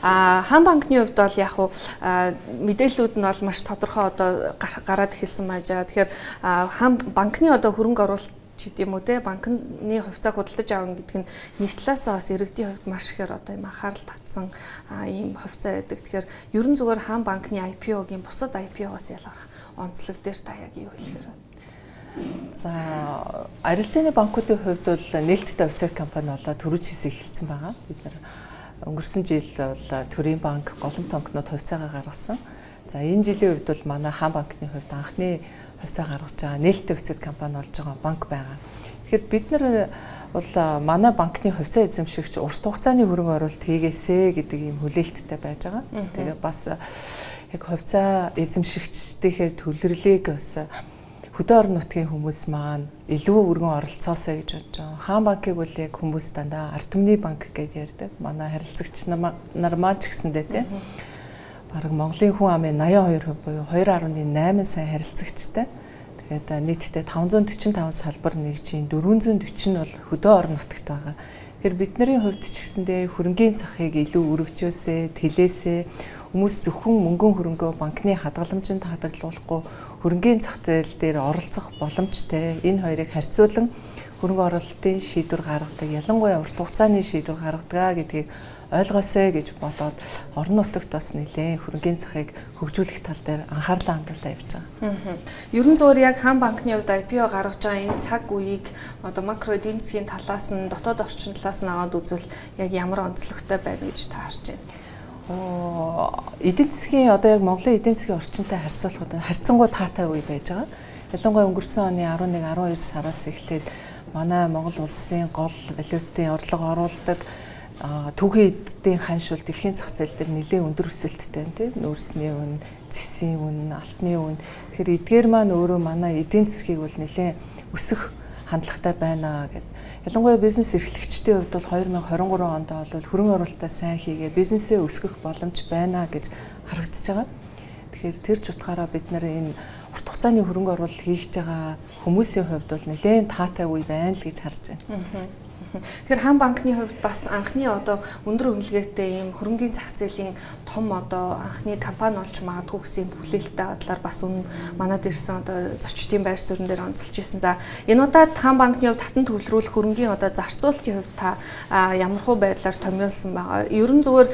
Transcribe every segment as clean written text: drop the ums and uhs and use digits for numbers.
Хаан банкны хувьд бол яг уу мэдээллүүд нь бол маш тодорхой одоо гараад эхэлсэн байж байгаа. Тэгэхээр хаан банкны одоо хөрөнгө оруулалт гэдэг юм уу те банкны хувьцааг худалдаж авна гэдэг нь нэг талаасаа бас иргэдийн хувьд маш ихээр одоо юм анхаарал татсан ийм хувьцаа байдаг. Тэгэхээр ерөн зүгээр хаан банкны IPO-гийн бусад IPO-гоос ялгарх онцлог дээр та яг юу хэлэхээр байна? За арилжааны банкуудын хувьд бол нээлттэй хувьцаат компани болоод төрөж хийсэ эхэлсэн байгаа. Бид нар өнгөрсөн жил бол Төрийн банк голомт тонкнууд хувьцаагаа гаргасан. За энэ жилийн хувьд бол манай хаан банкны хувьд анхны хувьцаа гаргаж байгаа нээлттэй хувьцаат компани болж байгаа банк байгаа. Тэгэхээр бид нар бол манай банкны хувьцаа эзэмшигч урт хугацааны хөрөнгө оруулалт хийгээсэ гэдэг ийм хүлээлттэй байж байгаа. Тэгээ бас яг хувьцаа эзэмшигчдийнхээ төлөрлийг бас хөдөө орон нутгийн хүмүүс маань илүү өргөн оролцоосоо гэж бодож байгаа. Хаан банкыг бол яг хүмүүс дандаа ард түмний банк гэж ярьдаг. Манай харилцагч нар маань ч гэсэндээ тийм бараг Монголын хүн амын 82% буюу 2.8 сая харилцагчтай. Тэгээд нийтдээ 545 салбар нэгжийн 440 нь бол хөдөө орон нутагт байгаа. Тэгэхээр бидний хувьд ч гэсэндээ хөрөнгийн захыг илүү өргөжөөсэй, тэлээсэй, хүмүүс зөвхөн мөнгөн хөрөнгөө банкны хадгаламжинд хадгалуулахгүй хөрөнгийн зах зээл дээр оролцох боломжтой. Энэ хоёрыг харьцуулан хөрөнгө оруулалтын шийдвэр гаргадаг, ялангуяа урт хугацааны шийдвэр гаргадаг гэдгийг ойлгосоо гэж бодоод орон нутагт бас нэлээд хөрөнгийн захыг хөгжүүлэх тал дээр анхаарлаа хандуулаа явж байгаа. Ерөн зуур яг хаан банкны хувьд IPO гаргаж байгаа энэ цаг үеийг одоо макро эдийн засгийн талаас нь дотоод орчин талаас нь аваад үзвэл яг ямар онцлогтой байна гэж та харж байна? Эдийн засгийн одоо яг Монголын эдийн засгийн орчинтай харьцуулахад харьцангуй таатай үе байж байгаа. Ялангуяа өнгөрсөн оны 11-12 сараас эхлээд манай Монгол улсын гол валютын орлого оруулдаг түүхийн эдийн ханшуул дэлхийн зах зээл дээр нэлээд өндөр өсөлттэй тийм нүүрсний үн, зэсийн үн, алтны үн. Тэгэхээр эдгээр маань өөрөө манай эдийн засгийг бол нэлээд өсөх хандлагатай байна гэдэг. Ялангуяа бизнес эрхлэгчдийн хувьд бол 2023 онд бол хөрөнгө оруулалтаа сайн хийгээ бизнесээ өсгөх боломж байна гэж харагдаж байгаа. Тэгэхээр тэр ч утгаараа бид нар энэ урт хугацааны хөрөнгө оруулалт хийж байгаа хүмүүсийн хувьд бол нэлээд таатай үе байна л гэж харж байна. Тэгэхээр хаан банкны хувьд бас анхны одоо өндөр үнэлгээтэй ийм хөрөнгийн зах зээлийн том одоо анхны компани болж магадгүй гэсэн хүлээлттэй бодлоор бас манад ирсэн одоо зочдын байр суурин дээр онцолж ирсэн. За энэ удаад хаан банкны хувьд татан төвлөрүүлэх хөрөнгийн одоо зарцуулалтын хувьд та ямархуу байдлаар томьёолсон байгаа. Ерөн зүгээр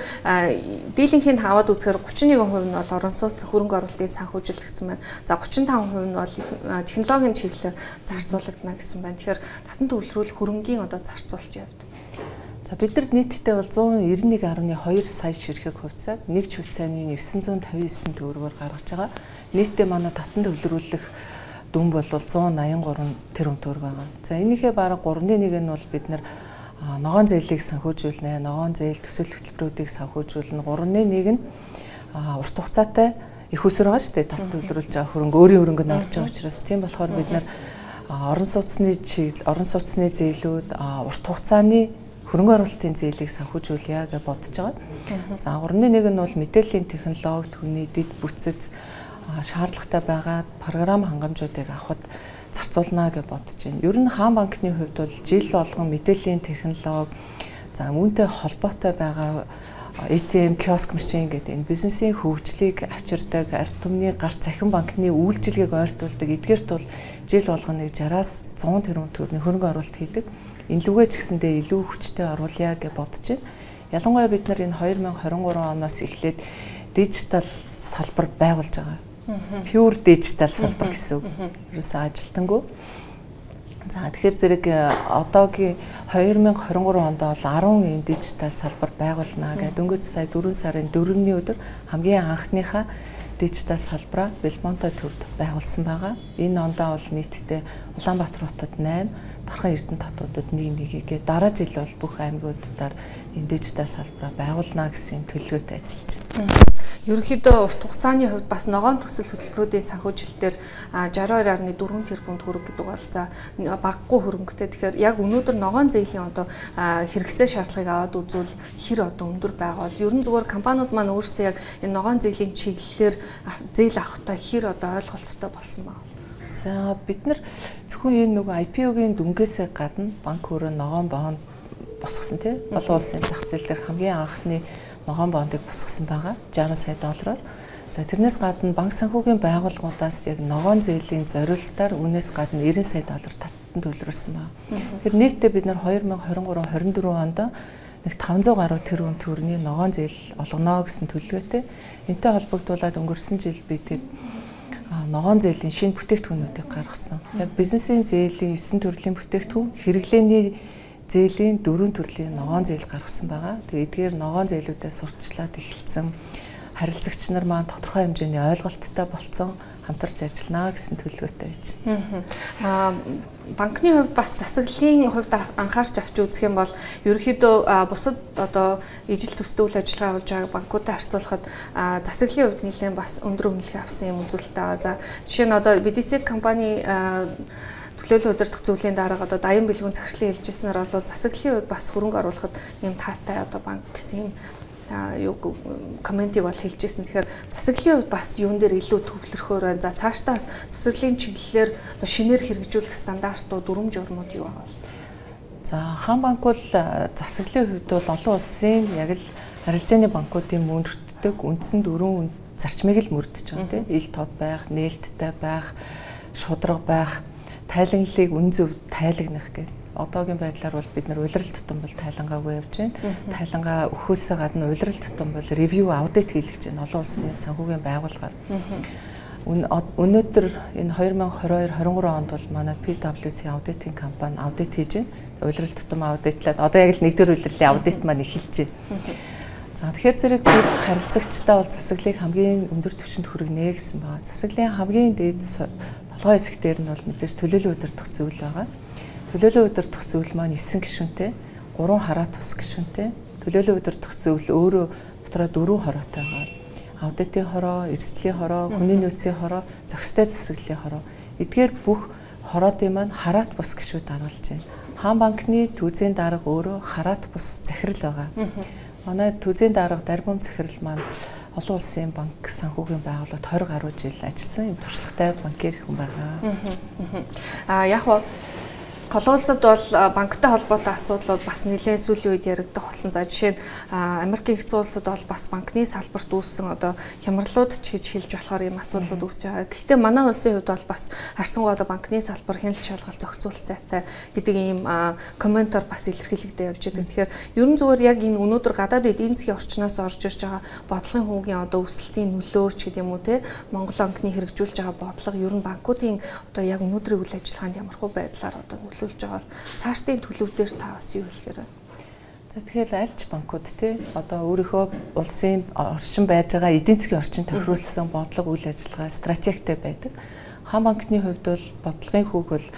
дийлэнхийн таваад үзэхээр 31% нь бол орон сууц хөрөнгө оруулалтын санхүүжилт гэсэн байна. За 35% нь бол технологийн чиглэлээр зарцуулагдана гэсэн байна. Тэгэхээр татан төвлөрүүлэх хөрөнгийн одоо зарцуулалтын хувьд. За бидэрд нийтдээ бол 191.2 сая ширхэг хувьцааг нэг швейцарийн 959 төгрөгөөр гаргаж байгаа. Нийтдээ манай татан төвлөрүүлэх дүн бол 183 тэрбум төгрөг байгаа. За энийхээ бараг 3.1 нь бол бид нар ногоон зээлийг санхүүжүүлнэ, ногоон зээл төсөл хөтөлбөрүүдийг санхүүжүүлнэ. 3.1 нь урт хугацаатай их усраа байгаа шүү дээ. Татан төвлөрүүлж байгаа хөрөнгө өөрийн хөрөнгөнд орж байгаа учраас тийм болохоор бид нар орон сууцны зээлүүд, урт хугацааны хөрөнгө оруулалтын зээлийг санхүүжүүлъя гэж бодож байгаа. За 3.1 нь бол мэдээллийн технологи, түүний дэд бүтцэд шаардлагатай байгаа програм хангамжуудыг авахд зарцуулна гэж бодож байна. Ер нь хаан банкны хувьд бол жил болгон мэдээллийн технологи, за үүнтэй холбоотой байгаа ATM киоск машин гэдэг энэ бизнесийн хөгжлийг авчирдаг, ард түмний гарт захин банкны үйлчилгээг ойртуулдаг. Эдгээрт бол жил болгоно 60-аас 100 тэрбум төгрөгийн хөрөнгө оруулалт хийдэг. Энэ лүгээ ч гэсэндээ илүү хүчтэй оруулъя гэж бодож байна. Ялангуяа бид нар энэ 2023 оноос эхлээд дижитал салбар байгуулж байгаа. Pure digital салбар гэсэн үг. Ерөөсөө ажилтангүй. За тэгэхээр зэрэг одоогийн 2023 онд бол 10 ийм дижитал салбар байгуулна гэдэг. Дөнгөж сая 4 сарын 4-ний өдөр хамгийн анхныхаа дижитал салбараа Белмонто төвд байгуулсан байгаа. Энэ ондоо бол нийтдээ Улаанбаатар хотод 8, Дархан Эрдэнэ хотуудад 1 гээд дараа жил бол бүх аймагуудаар энэ дижитал салбараа байгуулна гэсэн төлөвлөгөөтэй ажиллаж байна. Ерөнхийдөө урт хугацааны хувьд бас ногоон төсөл хөтөлбөрүүдийн санхүүжилтээр 62.4 тэрбум төгрөг гэдэг бол за багагүй хөрөнгөтэй. Тэгэхээр яг өнөөдөр ногоон зээлийн одоо хэрэгцээ шаардлагыг аваад үзвэл хэр одоо өндөр байгаа бол ерөн зүгээр компаниуд маань өөрсдөө яг энэ ногоон зээлийн чиглэлээр зээл авахтаа хэр одоо ойлголттой болсон байгаа. За бид нар зөвхөн энэ нөгөө IPO-гийн дүнгээс гадна банк өөрөө ногоон бонд босгосон тийм олон улсын зах зээл дээр хамгийн анхны ногоон бондыг босгосон байгаа 60 сая доллараар. За тэрнээс гадна банк санхүүгийн байгууллагуудаас яг ногоон зээлийн зориулалтаар үнээс гадна 90 сая доллар татан төлрүүлсэн байна. Тэгэхээр нийтдээ бид нар 2023-24 онд нэг 500 гаруй тэрбум төгрөгийн ногоон зээл олгоно гэсэн төлөвлөгөөтэй. Энтэй холбогдуулаад өнгөрсөн жил бид ногоон зээлийн шинэ бүтээгдэхүүнүүдийг гаргасан. Яг бизнесийн зээлийн 9 төрлийн бүтээгдэхүүн, хэрэглээний зээлийн 4 төрлийн ногоон зээл гаргасан байгаа. Тэгээд эдгээр ногоон зээлүүдэд сурталчлаад эхэлсэн. Харилцагч нар маань тодорхой хэмжээний ойлголттой болцсон, хамтарч ажиллана гэсэн төлөвлөгөөтэй байж. Банкны хувьд бас засаглалын хувьд анхаарч авч үзэх юм бол ерөнхийдөө бусад одоо ижил төстэй үйл ажиллагаа явуулж байгаа банкуудтай харьцуулахад засаглалын хувьд нэлээд бас өндөр үнэлгээ авсан юм үзүүлэлт байгаа. За жишээ нь одоо BDC компани төлөөлөл удирдах зүйлийн дарга одоо даян бэлгүүн захирлын хэлжсэнээр бол засаглалын хувьд бас хөрөнгө оруулахад юм таатай одоо банк гэсэн юм комментиг бол хэлжсэн. Тэгэхээр засаглалын хувьд бас юун дээр илүү төвлөрөхөөр байна. За цаашдаа засаглалын чиглэлээр одоо шинээр хэрэгжүүлэх стандартууд, дүрм журмууд юу байгаа вэ? За хаан банк бол засаглалын хувьд бол олон улсын яг л арилжааны банкуудын мөрддөг үндсэн дөрвөн зарчмыг л мөрдөж байгаа тийм. Ил тод байх, нээлттэй байх, шудраг байх, тайлагналыг үн зөв тайлагнах гэх. Одоогийн байдлаар бол бид нар улирал тутам бол тайлангаагүй явж байна. Тайлангаа өгөхөөсөө гадна улирал тутам бол ревю аудит хийлгэж байна. Олон улсын санхүүгийн байгууллагаар. Өнөөдөр энэ 2022-23 онд бол манай PwC аудитын компани аудит хийж байна. Улирал тутам аудитлаад одоо яг л нэгдүгээр улирлын аудит маань эхэлж байна. За тэгэхээр зэрэг бид харилцагчтай бол засаглалыг хамгийн өндөр түвшинд хүргэнэ гэсэн байна. Засаглалын хамгийн дээд толгой хэсэг дээр нь бол мэдээж төлөөлөл удирдах зүйл байгаа. Төлөөлөл удирдах зүйл маань 9 гишүүнтэй, 3 хараат тус гишүүнтэй. Төлөөлөл удирдах зүйл өөрөө дотроо 4 хороотой байгаа. Аудитын хороо, эрсдлийн хороо, хүний нөөцийн хороо, зохистой засаглалын хороо. Эдгээр бүх хороодын маань хараат бус гишүүд даргалж байна. Хаан банкны түүзийн дарга өөрөө хараат бус захирал байгаа. Манай түүзийн дарга Дарбум захирал маань олон улсын банк санхүүгийн байгууллагад 20 гаруй жил ажилласан юм туршлагатай банкир хүн байгаа. Яг нь олон улсад бол банктай холбоотой асуудлууд бас нэлээд сүүлийн үед яригдах болсон. За жишээ нь Америкийн хэсэг улсад бол бас банкны салбарт үүссэн одоо хямралууд ч гэж хэлж болохоор юм асуудлууд үүсэж байгаа. Гэхдээ манай улсын хувьд бол бас харьцангуй одоо банкны салбар хяналт шалгалт зохицуулалттай гэдэг ийм комментор бас илэрхийлэгдэж явж байгаа. Тэгэхээр ерөн зүгээр яг энэ өнөөдөр гадаад эдийн засгийн орчноос орж ирж байгаа бодлогын хүүгийн одоо өсөлтийн нөлөө ч гэдэг юм уу те Монгол банкны хэрэгжүүлж байгаа бодлого ер нь банкуудын одоо яг өнөөдрийн үйл ажиллагаанд ямархуу байдлаар одоо нөлөөлж байгаа бол цаашдын төлөвдөр та бас юу хэлэхээр байна? За тэгэхээр альч банкуд те одоо өөрийнхөө улсын орчин байж байгаа эдийн засгийн орчин тохируулсан бодлого үйл ажиллагаа стратегтэй байдаг. Хаан банкны хувьд бол бодлогын хүүг бол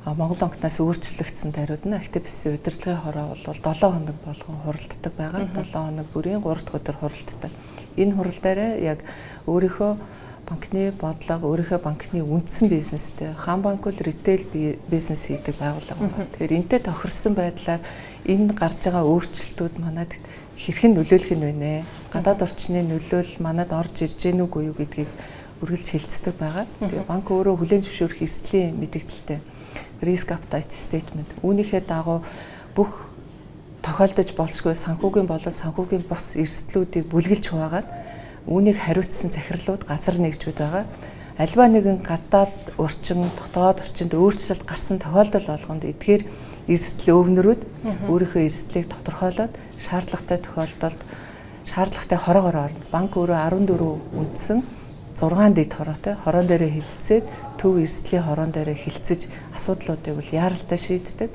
Монгол банкнаас өөрчлөгдсөн даруйд нь активистийн удирдлагын хороо бол 7 хоног болгон хуралддаг байгаа. 7 хоног бүрийн 3 дахь өдөр хуралддаг. Энэ хурал дээр яг өөрийнхөө банкны бодлого, өөрийнхөө банкны үндсэн бизнестэй хаан банк бол ритейл бизнес хийдэг байгууллага байна. Тэгэхээр энтэй тохирсон байдлаар энэ гарч байгаа өөрчлөлтүүд манад хэрхэн нөлөөлөх нь вэ? Гадаад орчны нөлөөлөл манад орж ирж гэнэ үгүй юу гэдгийг үргэлж хэлцдэг байгаа. Тэгээ банк өөрөө хүлээн зөвшөөрөх эрсдлийн мэдээлэлтэй risk appetite statement. Үүнийхээ дагуу бүх тохиолдож болшгүй санхүүгийн болон санхүүгийн бус эрсдлүүдийг бүлгэлж хуваагаад үүнийг хариуцсан захирлууд газар нэгжүүд байгаа. Альва нэгэн гадаад орчин, дотоод орчинд өөрчлөлт гарсан тохиолдол болгонд эдгээр эрсдэл өвнөрүүд өөрийнхөө эрсдлийг тодорхойлоод шаардлагатай тохиолдолд шаардлагатай хороогоор орно. Банк өөрөө 14 үндсэн 6 дэд хороотой хорон дээрээ хилцээд төв эрсдлийн хорон дээрээ хилцэж асуудлуудыг бол яаралтай шийддэг.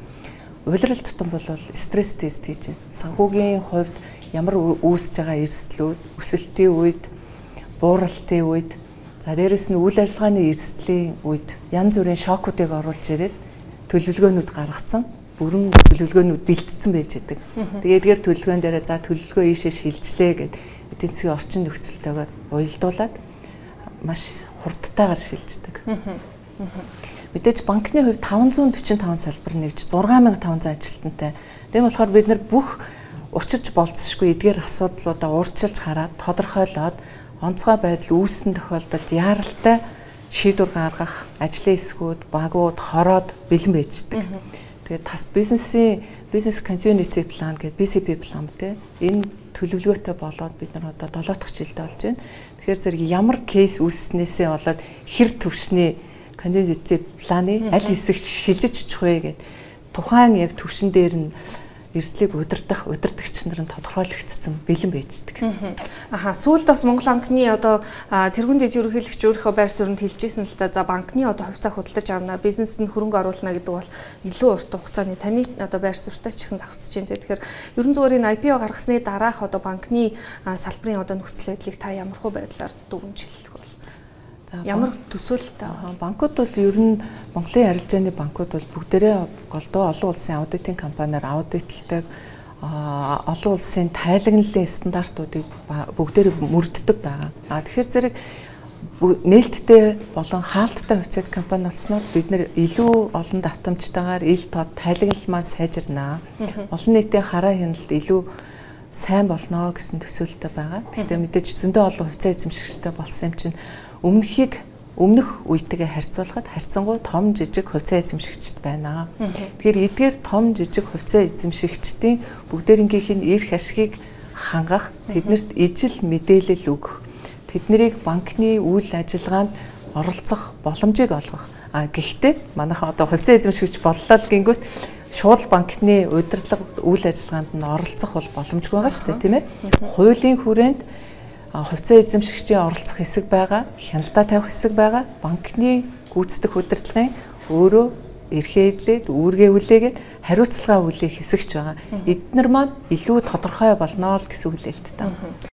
Улирал тутам бол стресс тест хийж байна. Санхүүгийн хувьд ямар үүсэж байгаа эрсдлүүд, өсөлтийн үед, бууралтын үед, за дээрэс нь үйл ажиллагааны эрсдлийн үед янз бүрийн шокуудыг оруулж ирээд төлөвлөгөөнүүд гаргацсан. Бүрэн төлөвлөгөөнүүд бэлдсэн байж байдаг. Тэгээд эдгээр төлөвлөгөөн дээрээ за төлөвлөгөө ийшээ шилжлээ гэд эдийн засгийн орчин нөхцөлтэйгээр уялдуулаад маш хурдтайгаар шилждэг. Мэдээж банкны хувьд 545 салбар нэгж 6500 ажилтнтай. Тийм болохоор бид нар бүх учирч болцсошгүй эдгээр асуудлуудаа уурчилж хараад тодорхойлоод онцгой байдал үүссэн тохиолдолд яаралтай шийдвэр гаргах ажлын хэсгүүд, багууд, хороод бэлэн байждаг. Тэгээд бизнес continuity plan гэдэг BCP план тэ энэ төлөвлөгөөтэй болоод бид нар одоо 7 дахь жилдээ болж байна. Тэгэхээр зэрэг ямар кейс үүснээсээ болоод хэр төвшний континженси планы аль хэсэгт шилжиж очих вэ гэдэг тухайн яг төвшин дээр нь эрсдлийг удирдагч нар нь тодорхойлогдсон бэлэн байждаг. Аха, сүүлд бас Монгол банкны одоо тэргуун дэд ерөнхийлөгч өөрийнхөө байр суурьнд хэлжсэн л та за банкны одоо хувьцаа худалдаж авна, бизнест нь хөрөнгө оруулна гэдэг бол илүү урт хугацааны таны одоо байр суурьтай ч гэсэн давхцаж байна. Тэгэхээр ерөн зүгээр энэ IPO гаргасны дараах одоо банкны салбарын одоо нөхцөл байдлыг та ямархуу байдлаар дүгнжүүлэх вэ? Ямар төсөөлөлтэй байгаа? Банкуд бол ер нь Монголын арилжааны банкуд бол бүгдээрээ голдуу олон улсын аудитын компаниар аудитлдаг, олон улсын тайлагналын стандартуудыг бүгдээрээ мөрддөг байгаа. Тэгэхээр зэрэг нээлттэй болон хаалттай хувьцаат компани болсноор бид нэр илүү олон давтамжтайгаар ил тод тайлагнал маань сайжирнаа. Олон нийтийн хараа хяналт илүү сайн болно гэсэн төсөөлөлтэй байгаа. Гэхдээ мэдээж зөндөө олон хувьцаа эзэмшигчтэй болсон юм чинь өмнөх үетэйгээ харьцуулахад харьцангуй том жижиг хувьцаа эзэмшигчд байна. Тэгэхээр эдгээр том жижиг хувьцаа эзэмшигчдийн бүгдээрнгийнх нь эрх ашгийг хангах, тэднэрт ижил мэдээлэл өгөх, тэднийг банкны үйл ажиллагаанд оролцох боломжийг олгох. Гэхдээ манайхан одоо хувьцаа эзэмшигч боллоо л гингүүт шууд банкны удирдлага үйл ажиллагаанд нь оролцох бол боломжгүй байгаа шүү дээ, тийм ээ. Хуулийн хүрээнд хувьцаа эзэмшигчийн оролцох хэсэг байгаа, хяналтаа тавих хэсэг байгаа. Банкны гүйцэтгэх удирдлагын өөрөө эрхээ эдлээд, үүргээ үлээгээд хариуцлага үлээх хэсэгч байгаа. Эднэр маань илүү тодорхой болно л гэсэн хүлээлттэй.